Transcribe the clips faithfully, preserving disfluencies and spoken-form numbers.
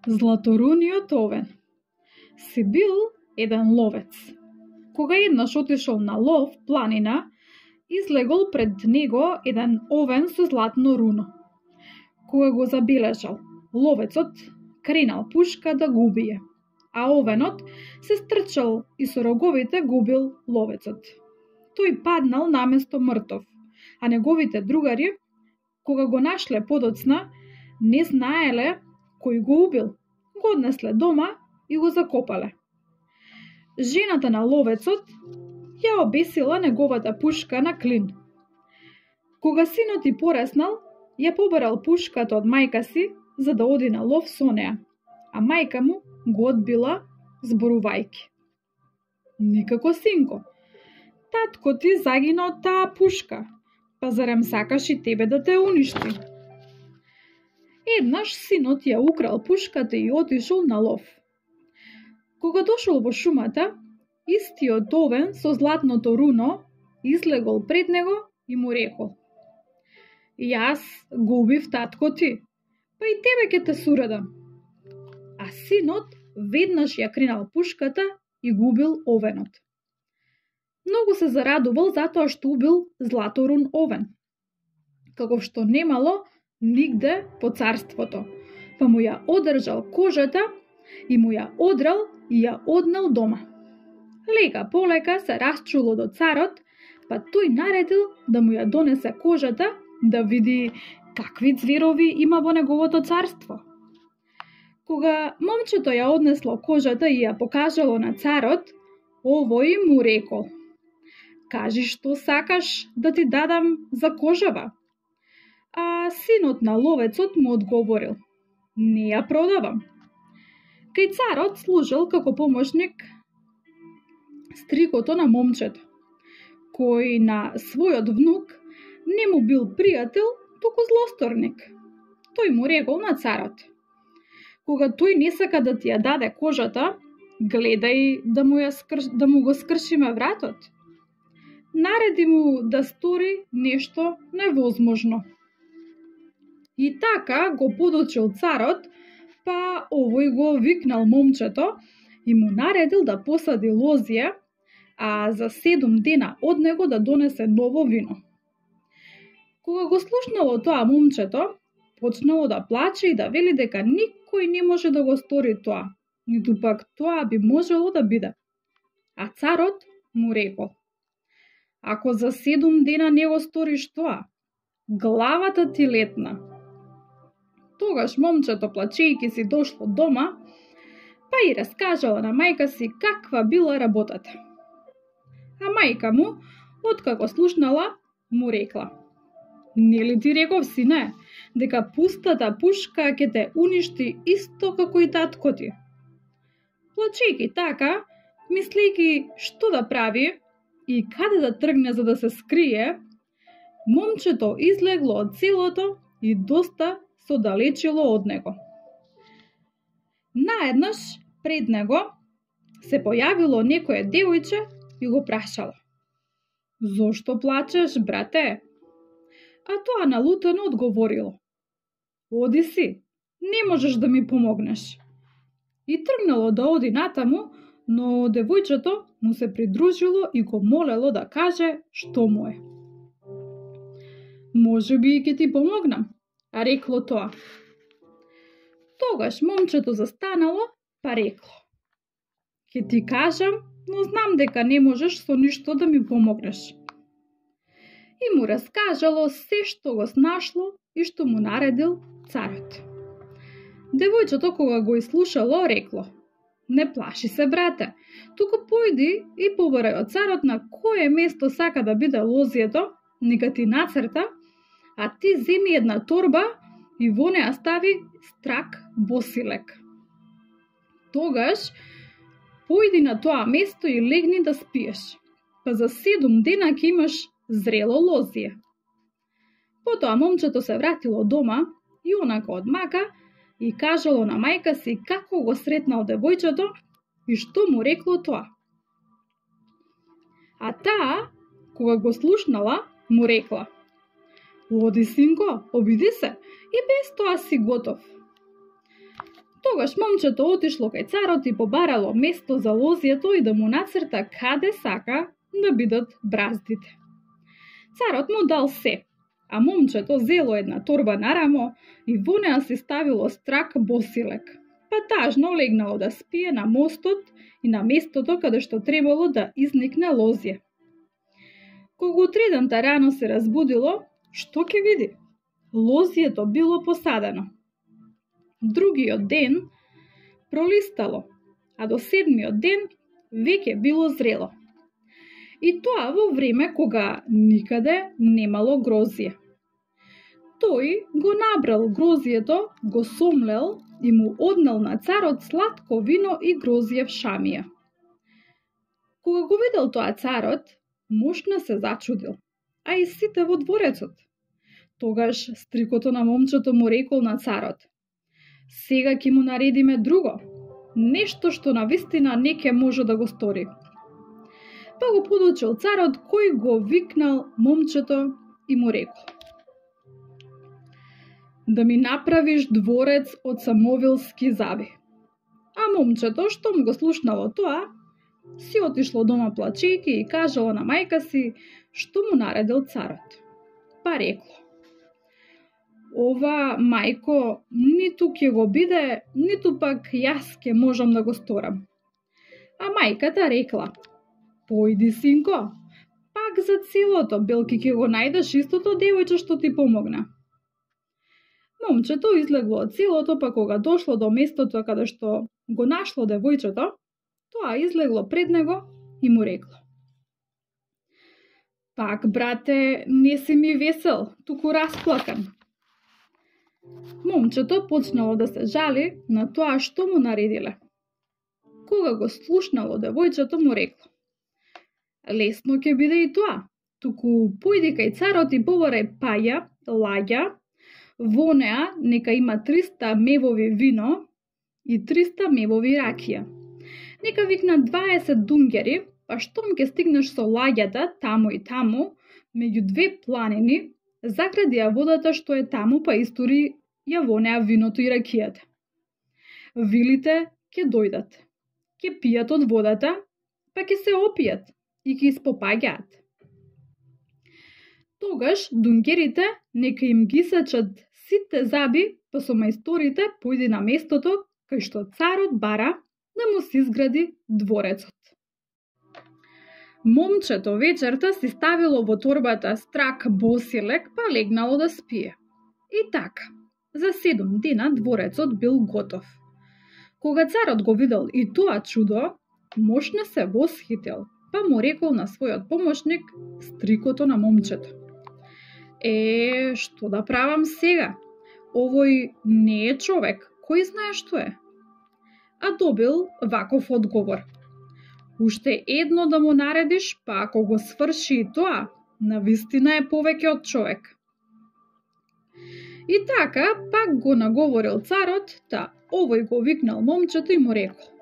Златоруниот овен. Си бил еден ловец. Кога еднаш отишол на лов планина, излегол пред него еден овен со златно руно. Кога го забележал, ловецот кренал пушка да го убие, а овенот се стрчал и со роговите го убил ловецот. Тој паднал наместо мртов, а неговите другари, кога го нашле подоцна, не знаеле кој го убил. Го однесле дома и го закопале. Жената на ловецот ја обесила неговата пушка на клин. Кога синот и пореснал, ја побарал пушката од мајка си за да оди на лов со неа, а мајка му го одбила зборувајќи: "Никако, синко, татко ти загина од таа пушка, па зарем сакаш и тебе да те уништи?" Еднаш синот ја украл пушката и отишол на лов. Кога дошол во шумата, истиот овен со златното руно излегол пред него и му рекол: "Јас го убив татко ти, па и тебе ќе те сурадам." А синот веднаш ја кренал пушката и го убил овенот. Многу се зарадувал затоа што убил златорун овен, како што немало нигде по царството, па му ја одржал кожата и му ја одрал и ја однел дома. Лека полека се расчуло до царот, па тој наредил да му ја донесе кожата да види какви зверови има во неговото царство. Кога момчето ја однесло кожата и ја покажало на царот, овој му рекол: "Кажи што сакаш да ти дадам за кожава?" А синот на ловецот му одговорил: "Не ја продавам." Кај царот служел како помошник стрикото на момчето, кој на својот внук не му бил пријател, туку злосторник. Тој му рекол на царот: "Кога тој не сака да ти ја даде кожата, гледај да му, ја скрш... да му го скршиме вратот. Нареди му да стори нешто невозможно." И така го подочил царот, па овој го викнал момчето и му наредил да посади лозија, а за седум дена од него да донесе ново вино. Кога го слушнало тоа момчето, почнало да плаче и да вели дека никој не може да го стори тоа, ниту пак тоа би можело да биде. А царот му рекол: "Ако за седум дена не го сториш тоа, главата ти летна." Тогаш момчето, плачејќи си, дошло дома, па и раскажало на мајка си каква била работата. А мајка му, откако слушнала, му рекла: "Нели ти реков, сине, дека пустата пушка ќе те уништи исто како и татко ти?" Плачејќи така, мислејќи што да прави и каде да тргне за да се скрие, момчето излегло од селото и доста се оддалечило од него. Наеднаш пред него се појавило некое девојче и го прашало: "Зошто плачеш, брате?" А тоа налутено одговорило: "Оди си, не можеш да ми помогнеш." И тргнало да оди натаму, но девојчето му се придружило и го молело да каже што му е. "Може би ќе ти помогнам," а рекло тоа. Тогаш момчето застанало, па рекло: "Ќе ти кажам, но знам дека не можеш со ништо да ми помогнеш." И му раскажало се што го снашло и што му наредил царот. Девојчето кога го изслушало, рекло: "Не плаши се, брате, туку појди и побарај од царот на кое место сака да биде лозието, нека ти нацрта, а ти земи една торба и во неа стави страк босилек. Тогаш појди на тоа место и легни да спиеш, па за седум дена ќе имаш зрело лозие." Потоа момчето се вратило дома и онака од мака и кажало на мајка си како го сретнал девојчето и што му рекло тоа. А таа, кога го слушнала, му рекла: "Оди, синко, обиди се, и без тоа си готов." Тогаш момчето отишло кај царот и побарало место за лозјето и да му нацрта каде сака да бидат браздите. Царот му дал се, а момчето зело една торба на рамо и во неа си ставило страк босилек, па тажно легнало да спие на мостот и на местото каде што требало да изникне лозје. Кога утредента рано се разбудило, што ќе види? Лозјето било посадено. Другиот ден пролистало, а до седмиот ден веќе било зрело. И тоа во време кога никаде немало грозје. Тој го набрал грозјето, го сомлел и му однел на царот сладко вино и грозје в шамија. Кога го видел тоа царот, мошна се зачудил, а и сите во дворецот. Тогаш стрикото на момчето му рекол на царот: сега ќе му наредиме друго, нешто што навистина не ќе може да го стори. Па го подучил царот кој го викнал момчето и му рекол: да ми направиш дворец од самовилски заби. А момчето, што му го слушнало тоа, си отишло дома плачејќи и кажало на мајка си што му наредил царот. Па рекло: ова, мајко, ниту ќе го биде, ниту пак јас ќе можам да го сторам. А мајката рекла: појди, синко, пак за целото, белки ќе го најдеш истото девојче што ти помогна. Момчето излегло од селото, па кога дошло до местото каде што го нашло девојчето, тоа излегло пред него и му рекло: пак, брате, не си ми весел, туку расплакан. Момчето почнало да се жали на тоа што му наредиле. Кога го слушнало девојчето, му рекло: лесно ќе биде и тоа, туку појди кај царот и побарај паја, лаѓа, во неа нека има триста мевови вино и триста мевови ракија. Нека викна дваесет дунгери, па штом ќе стигнеш со лагјата таму и таму, меѓу две планини, загради ја водата што е таму, па истори ја во неа виното и ракијата. Вилите ќе дојдат, ќе пијат од водата, па ќе се опијат и ќе испопаѓаат. Тогаш дунгерите нека им ги сачат сите заби, па со мајсторите појди на местото кај што царот бара да му се изгради дворецот. Момчето вечерта си ставило во торбата страк босилек, па легнало да спие. И така, за седум дена дворецот бил готов. Кога царот го видел и тоа чудо, мошна се восхитил, па му рекол на својот помошник, стрикото на момчето: е, што да правам сега? Овој не е човек, кој знае што е? А добил ваков одговор: уште едно да му наредиш, па ако го сврши и тоа, навистина е повеќе од човек. И така, пак го наговорил царот, та овој го викнал момчето и му рекол: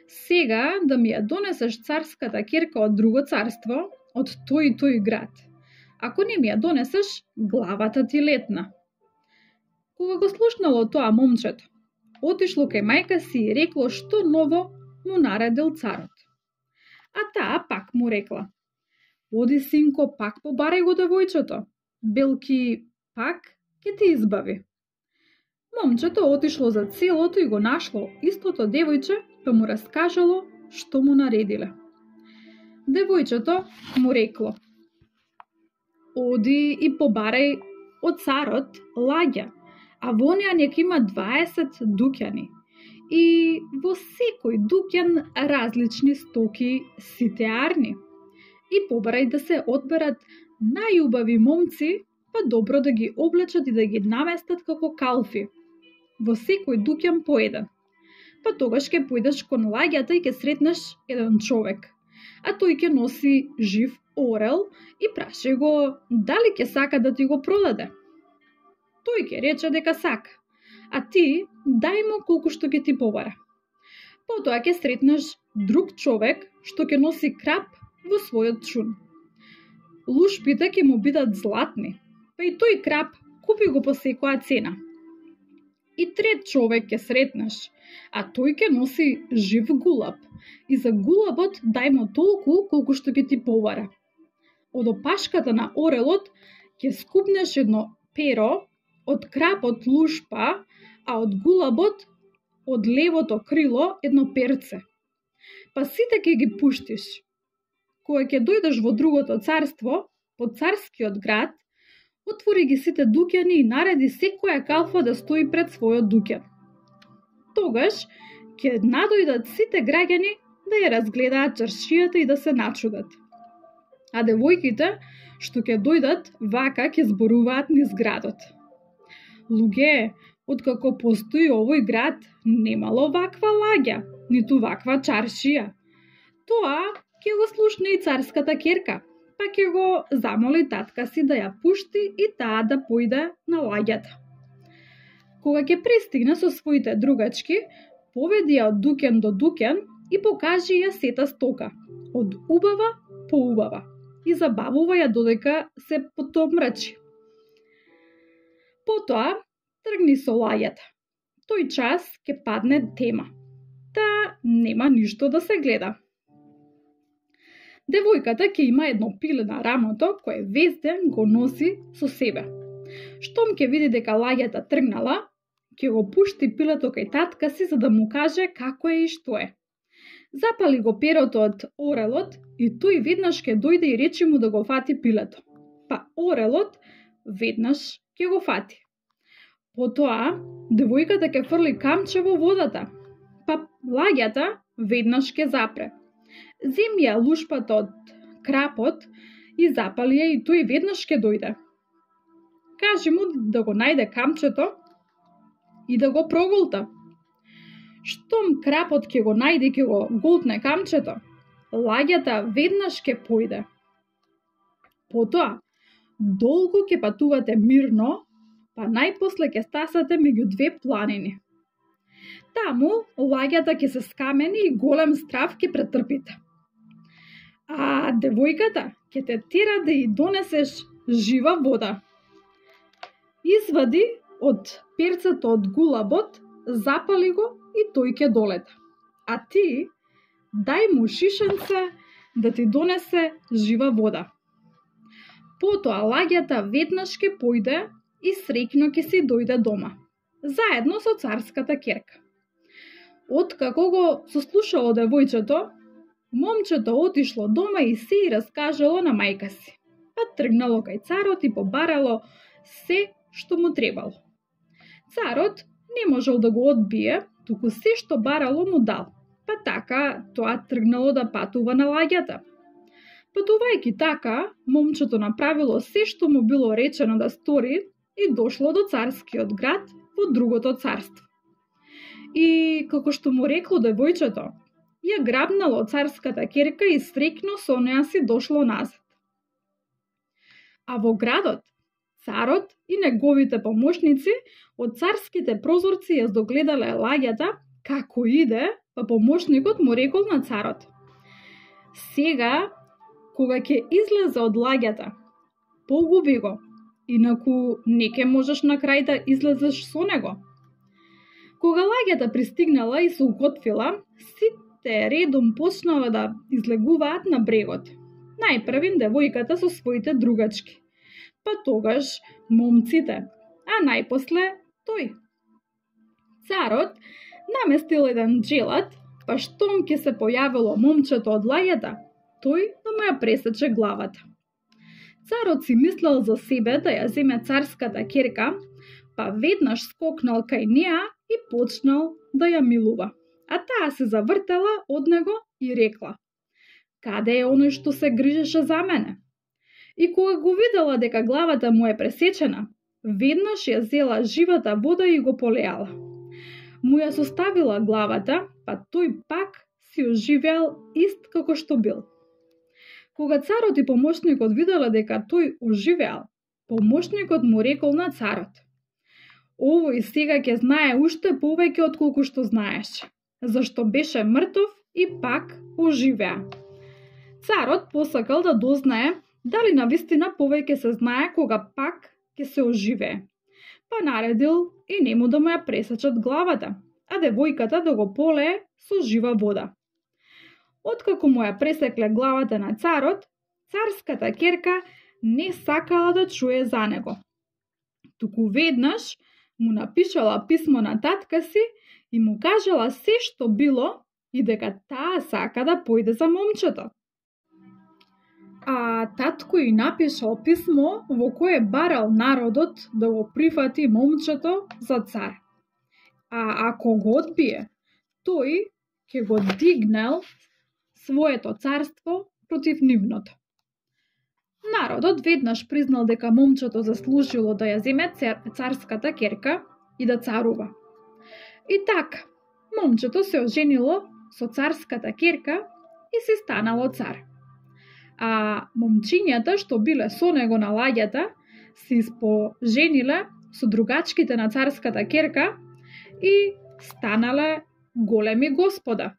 сега да ми ја донесеш царската керка од друго царство, од тој и тој град. Ако не ми ја донесеш, главата ти летна. Кога го слушнало тоа момчето, отишло кај мајка си и рекло што ново му наредил царот. А таа пак му рекла: оди, синко, пак побарај го девојчето, белки пак ќе те избави. Момчето отишло за селото и го нашло истото девојче, па му раскажало што му наредиле. Девојчето му рекло: оди и побарај од царот лаѓа, а во неа нека има дваесет дуќани и во секој дуќан различни стоки, сите арни. И побарај да се одберат најубави момци, па добро да ги облечат и да ги наместат како калфи. Во секој дуќан по еден. Па тогаш ќе појдеш кон лагјата и ќе сретнеш еден човек, а тој ќе носи жив орел и праши го дали ќе сака да ти го продаде. Тој ќе рече дека сака, а ти дај му колку што ќе ти побара. Потоа ќе сретнеш друг човек што ќе носи крап во својот чун. Лушпите ќе му бидат златни, па и тој крап купи го по секоја цена. И трет човек ќе сретнеш, а тој ќе носи жив гулаб. И за гулабот дај му толку колку што ќе ти побара. Од опашката на орелот ќе скупнеш едно перо, од крапот лушпа, а од гулабот, од левото крило, едно перце. Па сите ќе ги пуштиш. Кога ќе дојдеш во другото царство, по царскиот град, отвори ги сите дуќани и нареди секоја калфа да стои пред својот дуќан. Тогаш ќе надојдат сите граѓани да ја разгледаат чаршијата и да се начудат. А девојките што ќе дојдат вака ќе зборуваат низ градот. Луѓе, откако постои овој град, немало ваква лагја, ниту ваква чаршија. Тоа ќе го слушне и царската ќерка, па ќе го замоли татка си да ја пушти и таа да појде на лагјата. Кога ќе пристигне со своите другачки, поведи ја од дуќан до дуќан и покажи ја сета стока, од убава по убава, и забавува ја додека се потомрачи. Потоа тргни со лагјата. Тој час ќе падне тема, та нема ништо да се гледа. Девојката ќе има едно пиле на рамото кое вес ден го носи со себе. Штом ќе види дека лагјата тргнала, ќе го пушти пилето кај татка си за да му каже како е и што е. Запали го перото од орелот и тој веднаш ќе дојде и речи му да го фати пилето. Па орелот веднаш ќе го фати. Потоа, девојката ќе фрли камче во водата, па лагјата веднаш ќе запре. Земи ја лушпата од крапот и запали ја и тој веднаш ќе дојде. Кажи му да го најде камчето и да го проголта. Штом крапот ќе го најде, ќе го голтне камчето, лагјата веднаш ќе појде. Потоа, долго ќе патувате мирно, па најпосле ќе стасате меѓу две планини. Таму лагјата ќе се скамени и голем страв ќе претрпите. А девојката ќе те тера да ја донесеш жива вода. Извади од перцето од гулабот, запали го и тој ќе долета. А ти дај му шишенце да ти донесе жива вода. Потоа лагјата веднаш ќе појде и среќно ќе си дојде дома, заедно со царската ќерка. Откако го сослушало девојчето, момчето отишло дома и се и раскажало на мајка си, па тргнало кај царот и побарало се што му требало. Царот не можел да го одбие, туку се што барало му дал, па така тоа тргнало да патува на лагјата. Патувајќи така, момчето направило се што му било речено да стори и дошло до царскиот град во другото царство. И како што му рекло девојчето, ја грабнало царската ќерка и среќно со неа си дошло назад. А во градот, царот и неговите помошници од царските прозорци ја догледале лагјата како иде, па помошникот му рекол на царот: сега, кога ќе излезе од лагјата, погуби го, инаку не ќе можеш на крај да излезеш со него. Кога лагјата пристигнала и се уготвила, сите редом почнала да излегуваат на брегот. Најпрвин девојката со своите другачки, па тогаш момците, а најпосле тој. Царот наместил еден джелат, па штом ќе се појавило момчето од лагјата, тој да му ја пресече главата. Царот си мислел за себе да ја земе царската ќерка, па веднаш скокнал кај неа и почнал да ја милува. А таа се завртела од него и рекла: каде е оној што се грижеше за мене? И кога го видела дека главата му е пресечена, веднаш ја зела живата вода и го полеала. Му ја составила главата, па тој пак си оживеал ист како што бил. Кога царот и помошникот виделе дека тој оживеал, помошникот му рекол на царот: овој сега ќе знае уште повеќе од колку што знаеше, зашто беше мртов и пак оживеа. Царот посакал да дознае дали навистина повеќе се знае кога пак ќе се оживее. па наредил и нему да му ја пресечат главата, а девојката да го полее со жива вода. Откако му ја пресекле главата на царот, царската ќерка не сакала да чуе за него. Туку веднаш му напишала писмо на татка си и му кажала се што било и дека таа сака да појде за момчето. А татко и напишал писмо во кое барал народот да го прифати момчето за цар. А ако го одбие, тој ќе го дигнел своето царство против нивното. Народот веднаш признал дека момчето заслужило да ја земе царската ќерка и да царува. И така, момчето се оженило со царската ќерка и се станало цар. А момчињата што биле со него на лагјата се испожениле со другачките на царската ќерка и станале големи господа.